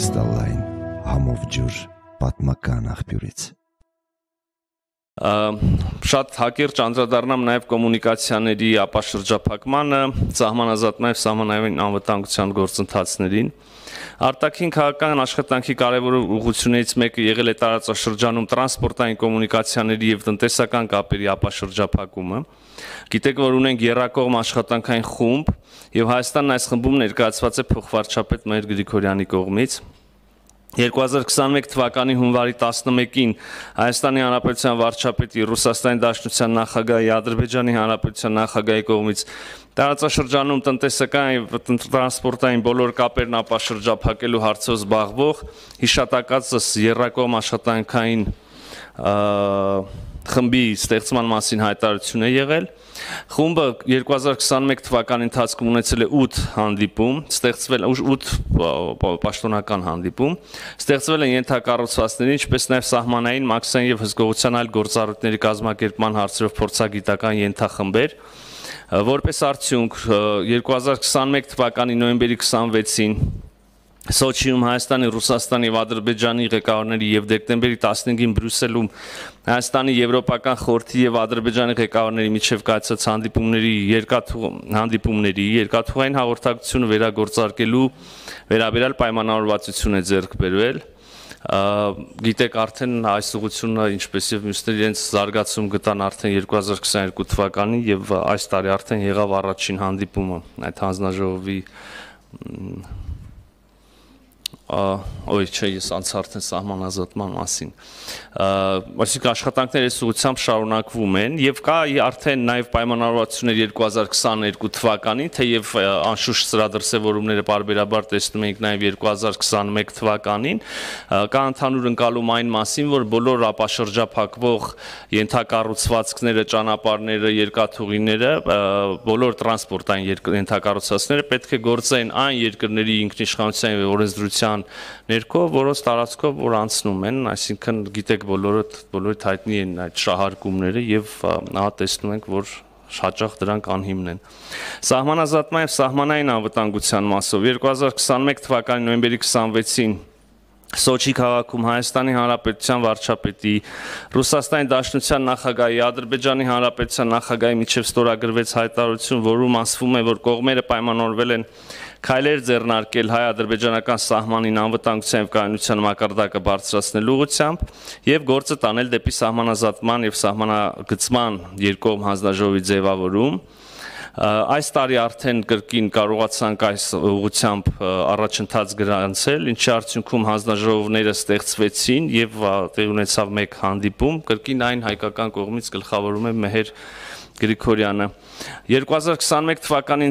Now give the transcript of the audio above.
Կրիստալային համով ջուր պատմական աղբյուրից։ Շատ հակիրճ անդրադառնամ նաև կոմունիկացիաների ապաշրջափակմանը, սահմանազատման և սահմանային անվտանգության գործընթացներին։ Արտաքին քաղաքական աշխատանքի կարևոր ուղղություններից մեկը եղել է տարածաշրջանում տրանսպորտային կոմունիկացիաների և տնտեսական կապերի ապաշրջափակումը։ Գիտեք, որ ունենք եռակողմ աշխատանքային խումբ, և Հայաստանն այս խմբում ներկայացված է փոխվարչապետ Մհեր Գրիգորյանի կողմից։ 2021 թվականի հունվարի 11-ին Հայաստանի Հանրապետության վարչապետի, Ռուսաստանի Դաշնության նախագահի, Ադրբեջանի Հանրապետության նախագահի կողմից տարածաշրջանում տնտեսական և տրանսպորտային բոլոր կապերն ապաշրջափակելու հարցով զբաղվող հիշատակածս եռակողմ աշխատանքային խմբի ստեղծման մասին հայտարարություն է եղել։ Խումբը 2021 թվականի ընթացքում ունեցել է 8 հանդիպում, 8 պաշտոնական հանդիպում, ստեղծվել են ենթակառուցվածքների, ինչպես նաև սահմանային, մաքսային և հսկողության այլ գործառույթների կազմակերպման հարցերով փորձագիտական ենթախմբեր։ Որպես արդյունք 2021 թվականի նոյեմբերի 26-ին Սոչիում Հայաստանի, Ռուսաստանի և Ադրբեջանի ղեկավարների և դեկտեմբերի 15-ին Բրյուսելում Հայաստանի Եվրոպական խորհրդի և Ադրբեջանի ղեկավարների միջև կայացած հանդիպումների երկաթուղային հաղորդակցությունը վերագործարկելու վերաբերյալ պայմանավորվածություն է ձեռք բերվել։ Գիտեք արդեն այս ուղղությունը, ինչպես և մյուսները իրենց զարգացում գտան արդեն 2022 թվականին և այս տարի արդեն եղավ առաջին հանդիպումը այդ հանձնաժողովի ես անցա արդեն սահմանազատման մասին։ Այսինքն աշխատանքները այս ուղղությամբ շարունակվում են և կա արդեն նաև պայմանավորվածություններ 2022 թվականին, թեև անշուշտ սրա դրսևորումները պարբերաբար տեսնում ենք նաև 2021 թվականին, կա ընդհանուր ընկալում այն մասին, որ բոլոր ապաշրջափակվող ենթակառուցվածքները, ճանապարհները, երկաթուղիները, բոլոր տրանսպորտային ենթակառուցվածքները պետք է գործեն այն երկրների ինքնիշխանության և օրենսդրության ներքո, որոնց տարածքով որ անցնում են, այսինքն գիտեք բոլորիդ հայտնի են այդ շահարկումները և ահա տեսնում ենք, որ հաճախ դրանք անհիմն են։ Սահմանազատման և սահմանային անվտանգության մասով 2021 թվականի նոյեմբերի 26-ին Սոչի քաղաքում Հայաստանի Հանրապետության վարչապետի, Ռուսաստանի Դաշնության նախագահի, Ադրբեջանի Հանրապետության նախագահի միջև ստորագրվեց հայտարարություն, որում ասվում է, որ կողմերը պայմանավորվել են քայլեր ձեռնարկել հայ-ադրբեջանական սահմանին անվտանգության և կայունության մակարդակը բարձրացնելու ուղղությամբ և գործը տանել դեպի սահմանազատման և սահմանագծման երկկողմ հանձնաժողովի ձևավորում։ Այս տարի արդեն կրկին կարողացանք այս ուղղությամբ առաջընթաց գրանցել, ինչի արդյունքում հանձնաժողովները ստեղծվեցին և տեղի ունեցավ մեկ հանդիպում, կրկին այն հայկական կողմից գլխավորում է Մհեր Գրիգորյանը։ 2021 թվականի